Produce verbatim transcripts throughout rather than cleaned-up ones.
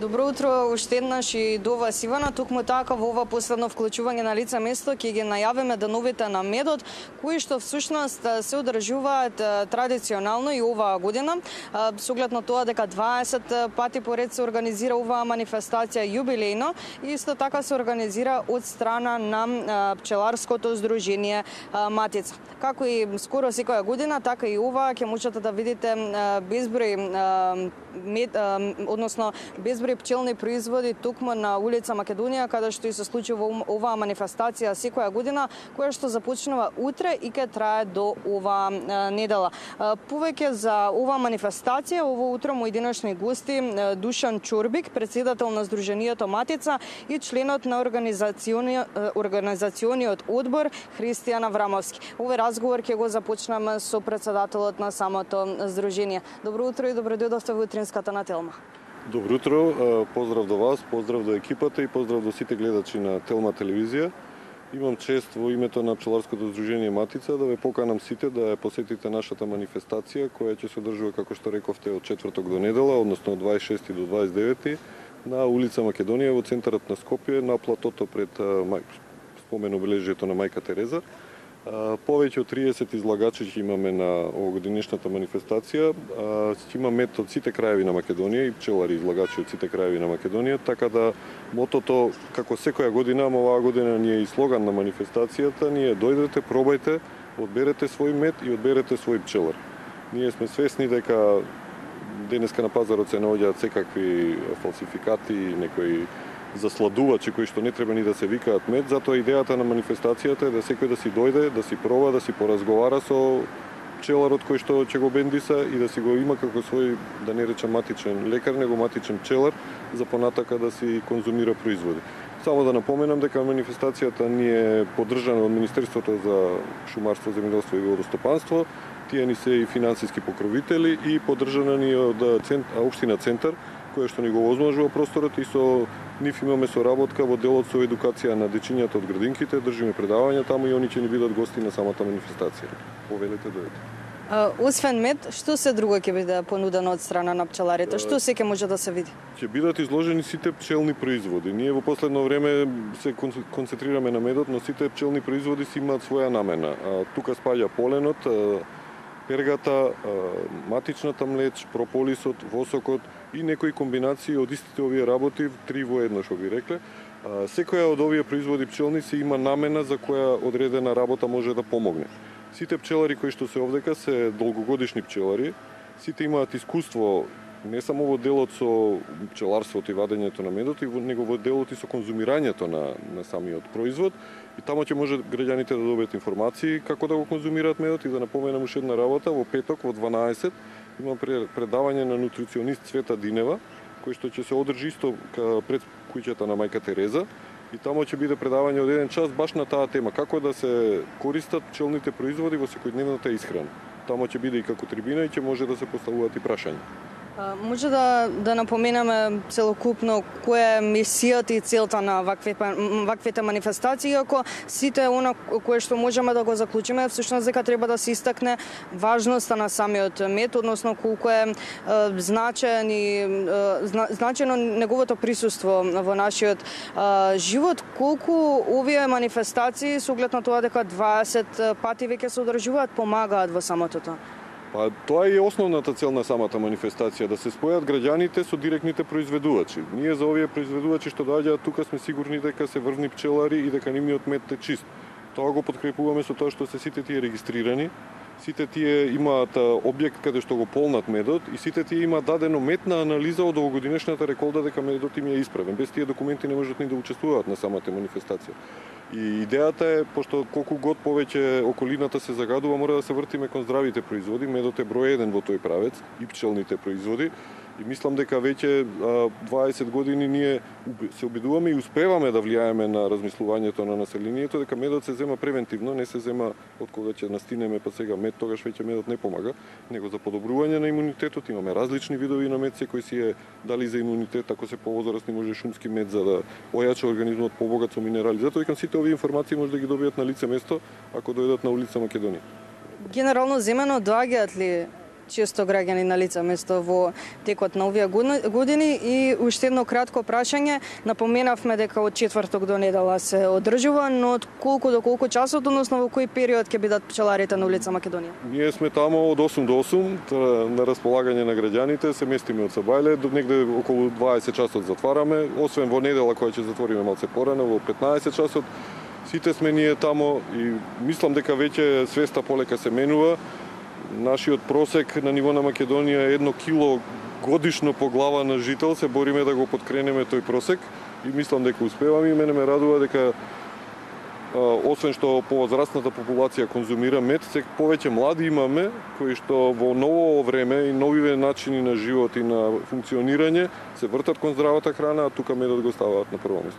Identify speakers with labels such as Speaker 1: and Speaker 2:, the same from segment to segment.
Speaker 1: Добро утро уште еднаш и до вас, Ивана. Токму така во ова последно вклучување на лице место ќе ги најавиме деновите на медот, кои што всушност се одржуваат традиционално и оваа година. Со оглед на тоа дека дваесет пати поред се организира оваа манифестација јубилејно и исто така се организира од страна на пчеларското здружение Матица. Како и скоро секоја година, така и ова ќе можете да видите безброј мед, односно безброј пчелни производи токму на улица Македонија, каде што и се случува оваа манифестација секоја година, која што започнува утре и ќе трае до оваа недела. Повеќе за оваа манифестација, ово утро мои денешни гости Душан Чорбик, председател на Здруженијето Матица, и членот на организациони... организациониот одбор Христијан Аврамовски. Овој разговор ќе го започнеме со председателот на самото здружение. Добро утро и добро дојдовте во утринската на Телма.
Speaker 2: Добро утро, поздрав до вас, поздрав до екипата и поздрав до сите гледачи на Телма телевизија. Имам чест во името на пчеларското здружение Матица да ве поканам сите да ја посетите нашата манифестација, која ќе се одржува, како што рековте, од четврток до недела, односно од дваесет и шести до дваесет и девети, на улица Македонија во центарот на Скопје, на платото пред спомен обележјето на Мајка Тереза. Повеќе од триесет излагачи ќе имаме на овогодинешната манифестација. Ќе има мед од сите краеви на Македонија и пчелари излагачи од сите краеви на Македонија, така да мотото, како секоја година, ама оваа година ни е и слоган на манифестацијата, ние дојдете, пробајте, одберете свој мед и одберете свој пчелар. Ние сме свесни дека денеска на пазарот се наоѓаат секакви фалсификати, некои засладувачи кои што не треба ни да се викаат мед, затоа идејата на манифестацијата е да секој да си дојде, да си проба, да си поразговара со пчеларот кој што ќе го бендиса и да си го има како свој, да не речам матичен лекар, него матичен пчелар, за понатака да си конзумира производи. Само да напоменам дека манифестацијата ни е поддржана од Министерството за шумарство, земјоделство и водостопанство, тие ни се и финансиски покровители и поддржана ни од општина Центар, која што ни го возможува просторот, и со нив имаме соработка во делот со едукација на дечињата од градинките, држиме предавања таму и они ќе ни бидат гости на самата манифестација. Повелете, дојдете.
Speaker 1: Освен мед, што се друго ќе биде понудено од страна на пчеларите? Што се ќе може да се види?
Speaker 2: Ќе бидат изложени сите пчелни производи. Ние во последно време се концентрираме на медот, но сите пчелни производи си имаат своја намена. Тука спаѓа поленот, пергата, матичната млеч, прополисот, восокот и некои комбинации од истите овие работи, три во едно што би рекле. Секоја од овие производи пчелни се има намена за која одредена работа може да помогне. Сите пчелари кои што се овдека се долгогодишни пчелари, сите имаат искуство не само во делот со пчеларството и вадењето на медот, него во делот и со конзумирањето на, на самиот производ. И тамо ќе може граѓаните да добијат информации како да го конзумираат медот. И да напоменам уште една работа, во петок во дванаесет има предавање на нутриционист Цвета Динева, кој што ќе се одржи исто пред куќата на Мајка Тереза. И тамо ќе биде предавање од еден час баш на таа тема, како да се користат пчелните производи во секојдневната исхрана. Тамо ќе биде и како трибина и ќе може да се поставуваат и прашања.
Speaker 1: Може да, да напоменаме целокупно која е мисијата и целта на вакви, ваквите манифестации, иако сите она кое што можеме да го заклучиме, всушност дека треба да се истакне важноста на самиот мед, односно колку е, е значен и е, значено неговото присуство во нашиот е, живот, колку овие манифестации со оглед на тоа дека дваесет пати веќе се одржуваат, помагаат во самото тоа.
Speaker 2: Па тоа е основната цел на самата манифестација, да се спојат граѓаните со директните произведувачи. Ние за овие произведувачи што доаѓаат тука сме сигурни дека се врвни пчелари и дека нивниот мед е чист. Тоа го подкрепуваме со тоа што се сите тие регистрирани, сите тие имаат објект каде што го полнат медот и сите тие имаат дадено медна анализа од овогодинешната реколда дека медот им е исправен. Без тие документи не можат ни да учествуваат на самата манифестација. И идејата е, пошто колку год повеќе околината се загадува, мора да се вртиме кон здравите производи. Медот е број еден во тој правец и пчелните производи. И мислам дека веќе дваесет години ние се обидуваме и успеваме да влијаеме на размислувањето на населението, дека медот се зема превентивно, не се зема од кога ќе настинеме па сега мед, тогаш веќе медот не помага, него за подобрување на имунитетот. Имаме различни видови на мед, секој си е дали за имунитет, ако се повозрасни може шумски мед за да ојача организмот, побогат со минерали. Затоа викам сите овие информации може да ги добијат на лице место ако дојдат на улица Македонија.
Speaker 1: Генерално земено доаѓаат ли често граѓани на лице место во текот на овие години. И уште едно кратко прашање, напоменавме дека од четврток до недела се одржува, но од колку до колку часот, односно во кој период ќе бидат пчеларите на улица Македонија?
Speaker 2: Ние сме тамо од осум до осум на располагање на граѓаните, се местиме од Сабајле, до негде околу дваесет часот затвараме, освен во недела која ќе затвориме малце порано во петнаесет часот. Сите сме ние тамо и мислам дека веќе свеста полека се менува. Нашиот просек на ниво на Македонија е едно кило годишно по глава на жител, се бориме да го подкренеме тој просек и мислам дека успеваме и мене ме радува дека освен што повозрастната популација конзумира мед, се повеќе млади имаме кои што во ново време и новиве начини на живот и на функционирање се вртат кон здравата храна, а тука медот го ставаат на прво место.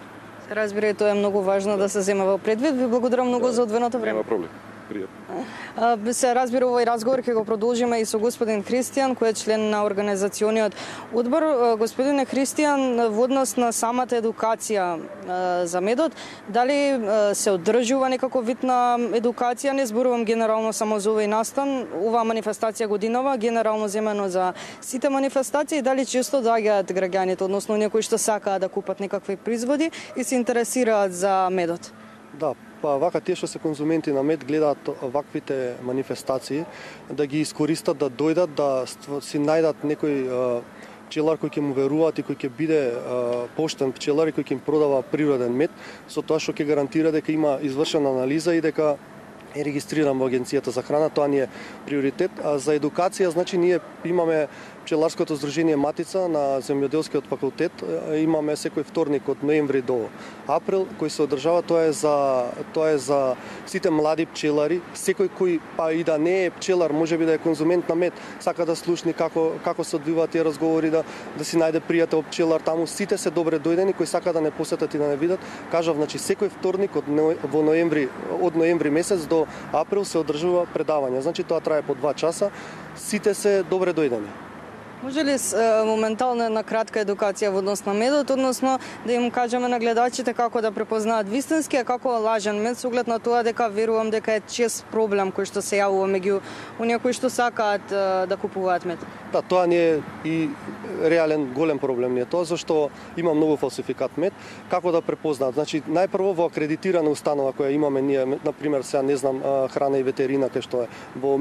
Speaker 1: Разбира, тоа е многу важно да се зема во предвид. Ви благодарам многу да, за одвоеното време.
Speaker 2: Нема проблем. Пријатно.
Speaker 1: Се разбира, овој разговор ќе го продолжиме и со господин Христијан, кој е член на организациониот одбор. Господине Христијан, во однос на самата едукација за медот, дали се одржува некако вид на едукација? Не зборувам генерално само за овој настан, оваа манифестација годинова, генерално земено за сите манифестации, дали често доаѓаат граѓаните, односно некои што сакаат да купат некакви производи и се интересираат за медот?
Speaker 3: Да, па вака тие што се конзументи на мед гледаат ваквите манифестации да ги искористат, да дојдат, да си најдат некој пчелар кој ќе му веруваат и кој ќе биде поштен пчелар и кој ќе им продава природен мед, со тоа што ќе гарантира дека има извршена анализа и дека е регистриран во Агенцијата за храна, тоа ни е приоритет. А за едукација, значи, ние имаме Пчеларското здружение Матица на земјоделскиот факултет, имаме секој вторник од ноември до април, кој се одржава, тоа е за тоа е за сите млади пчелари, секој кој па и да не е пчелар, можеби да е конзумент на мед, сака да слушни како како се одвиваат тие разговори, да да си најде пријател пчелар таму, сите се добре дојдени, кои сака да не посетат и да не видат. Кажав, значи секој вторник од во ноември од ноември месец до април се одржува предавање. Значи тоа трае по два часа. Сите се добре дојдени.
Speaker 1: Може ли моментално една кратка едукација во однос на медот, односно да им кажеме на гледачите како да препознаат вистински, а како лажен мед, со оглед на тоа дека верувам дека е чест проблем кој што се јавува меѓу оние кои што сакаат да купуваат мед?
Speaker 3: Да, тоа не е и реален голем проблем не е тоа, зашто има многу фалсификат мед. Како да препознаат? Значи, најпрво во акредитирана установа која имаме ние, на пример, сега не знам, храна и ветерина, кај што е во,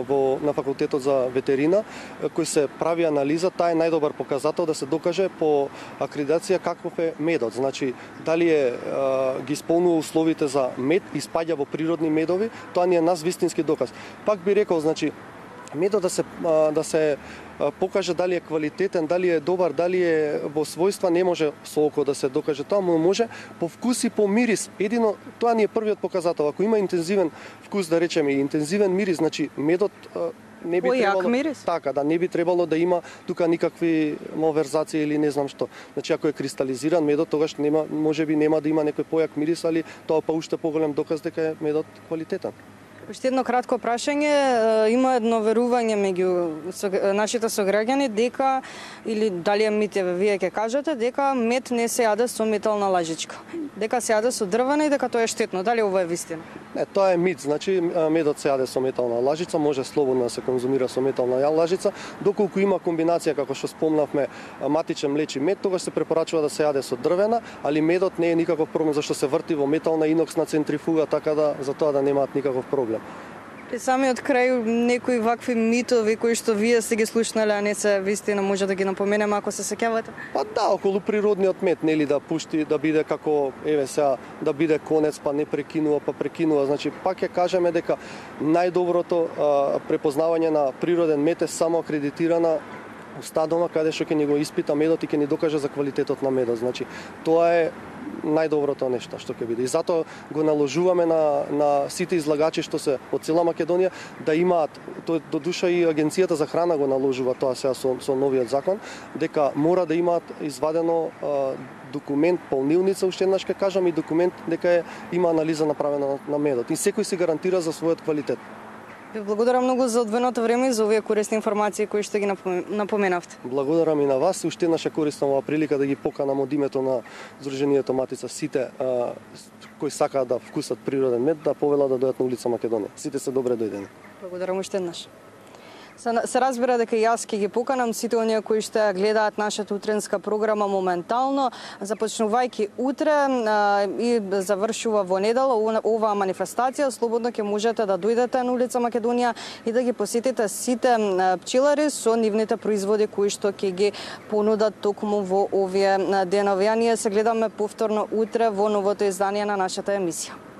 Speaker 3: во на факултетот за ветерина, кој се прави анализа, таа е најдобар показател да се докаже по акредитација каков е медот. Значи, дали е ги исполнува условите за мед и спаѓа во природни медови, тоа ни е нас вистински доказ. Пак би рекол, значи, медот да се да се покаже дали е квалитетен, дали е добар, дали е во својства, не може со око да се докаже тоа, но може по вкус и по мирис. Едино тоа ни е првиот показател. Ако има интензивен вкус, да речеме, и интензивен мирис, значи медот не би требало
Speaker 1: мирис?
Speaker 3: Така, да не би требало да има тука никакви малверзации или не знам што. Значи ако е кристализиран медот, тогаш нема, можеби нема да има некој појак мирис, али тоа па уште поголем доказ дека е медот квалитетен.
Speaker 1: Уште едно кратко прашање, има едно верување меѓу нашите сограѓани дека, или дали е мит, вие ќе кажете, дека мед не се јаде со метална лажичка, дека се јаде со дрвена и дека тоа е штетно. Дали ова е вистина?
Speaker 3: Не, тоа е мит. Значи медот се јаде со метална лажица, може слободно да се конзумира со метална лажица, доколку има комбинација како што спомнавме матичен млеч и мед, тогаш се препорачува да се јаде со дрвена, али медот не е никаков проблем зашто се врти во метална иноксна центрифуга, така да за тоа да немаат никаков проблем.
Speaker 1: При самиот крај некои вакви митови кои што вие сте ги слушнале, а не се вистина, може да ги напоменеме ако се сеќавате?
Speaker 3: Па да, околу природниот мед, нели, да пушти, да биде како, еве сега, да биде конец, па не прекинува, па прекинува. Значи, пак ќе кажеме дека најдоброто а, препознавање на природен мед е само акредитирана установа каде што ќе ни го испита медот и ќе ни докаже за квалитетот на медот. Значи, тоа е најдоброто нешто што ќе биде. И затоа го наложуваме на, на сите излагачи што се од цела Македонија да имаат, тоа до душа и Агенцијата за храна го наложува тоа сега со, со новиот закон, дека мора да имаат извадено а, документ, полнилница, уште еднаш ќе кажам, и документ дека е, има анализа направена на, на медот. И секој си гарантира за својот квалитет.
Speaker 1: Ви благодарам многу за одвоеното време и за овие корисни информации кои што ги напоменавте.
Speaker 3: Благодарам и на вас. Уште еднаш користам оваа прилика да ги поканам од името на Здруженијето Матица сите а, кои сакаат да вкусат природен мед, да повелат да дојдат на улица Македонија. Сите се добре дојдени.
Speaker 1: Благодарам уште еднаш. Се, се разбира дека и јас ќе ги поканам сите оние кои ще гледаат нашата утренска програма моментално, започнувајќи утре а, и завршува во недела оваа манифестација. Слободно ќе можете да дојдете на улица Македонија и да ги посетите сите пчелари со нивните производи кои што ќе ги понудат токму во овие денови. А ние се гледаме повторно утре во новото издание на нашата емисија.